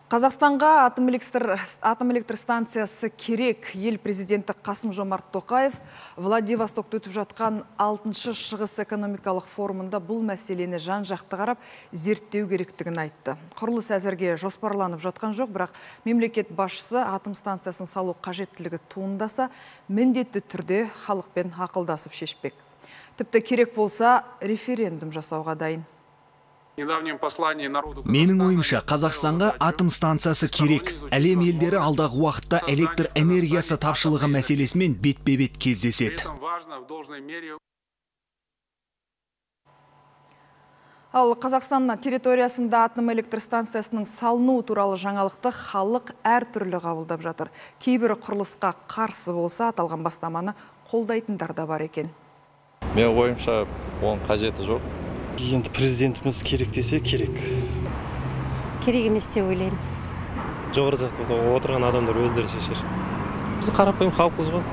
Қазақстанға атом электр станциясы керек. Ел президенті Қасым-Жомарт Тоқаев Владивостокта өтіп жатқан 6-шы шығыс экономикалық форумында бұл мәселені жан-жақты қарап зерттеу керектігін айтты. Құрылыс әзірге жоспарланып жатқан жоқ, бірақ мемлекет басшысы атом станциясын салу қажеттілігі туындаса, міндетті түрде халықпен ақылдасып шешпек. Тіпті керек болса, референдум жасауға дайын. Менің ойымша, Қазақстанға атом станциясы керек. Әлем елдері алдағы уақытта электр энергиясы тапшылығы мәселесімен бетпе-бет кездеседі. Ал Қазақстан территориясында атом электр станциясының салыну туралы жаңалықты халық әртүрлі қабылдап жатыр. Кейбір құрылысқа қарсы болса, аталған бастаманы қолдайтындар да бар екен. Мен ойымша, оның қажеті жоқ. Енді президентіміз керек десе керек. Керек емес деп ойлаймын. Жоғары жақта отырған адамдар өздері шешер. Біз қарапайым халықпыз ғой.